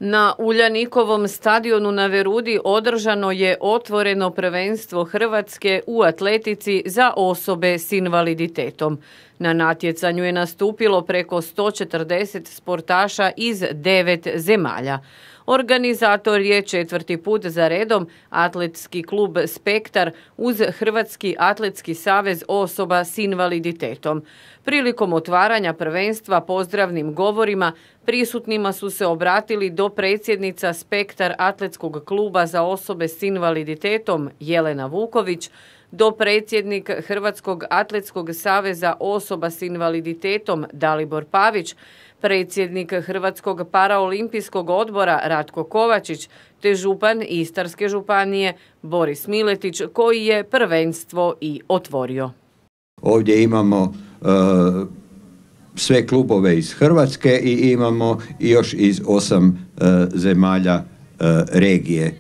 Na Uljanikovom stadionu na Verudi održano je otvoreno prvenstvo Hrvatske u atletici za osobe s invaliditetom. Na natjecanju je nastupilo preko 140 sportaša iz 9 zemalja. Organizator je 4. put za redom Atletski klub Spektar uz Hrvatski atletski savez osoba s invaliditetom. Prilikom otvaranja prvenstva pozdravnim govorima prisutnima su se obratili dopredsjednica Spektar Atletskog kluba za osobe s invaliditetom Jelena Vuković, dopredsjednik Hrvatskog atletskog saveza osoba s invaliditetom Dalibor Pavić, predsjednik Hrvatskog paraolimpijskog odbora Ratko Kovačić te župan Istarske županije Boris Miletić, koji je prvenstvo i otvorio. Ovdje imamo sve klubove iz Hrvatske i imamo još iz 8 zemalja regije.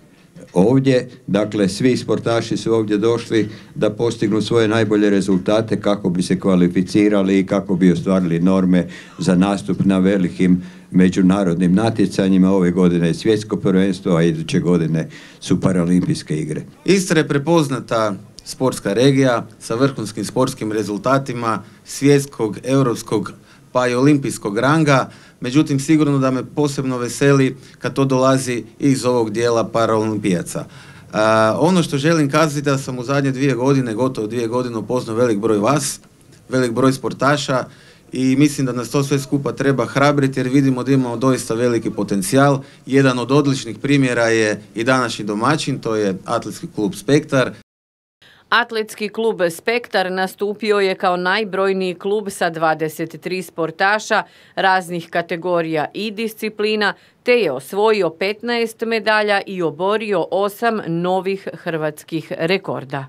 Ovdje, dakle, svi sportaši su ovdje došli da postignu svoje najbolje rezultate kako bi se kvalificirali i kako bi ostvarili norme za nastup na velikim međunarodnim natjecanjima. Ove godine je svjetsko prvenstvo, a iduće godine su paraolimpijske igre. Istra je prepoznata sportska regija sa vrhunskim sportskim rezultatima svjetskog, europskog pa i olimpijskog ranga. Međutim, sigurno da me posebno veseli kad to dolazi iz ovog dijela paraolimpijaca. Ono što želim kazati da sam u zadnje 2 godine, gotovo 2 godine upoznao velik broj vas, velik broj sportaša i mislim da nas to sve skupa treba hrabriti jer vidimo da imamo doista veliki potencijal. Jedan od odličnih primjera je i današnji domaćin, to je Atletski klub Spektar. Atletski klub Spektar nastupio je kao najbrojniji klub sa 23 sportaša raznih kategorija i disciplina, te je osvojio 15 medalja i oborio 8 novih hrvatskih rekorda.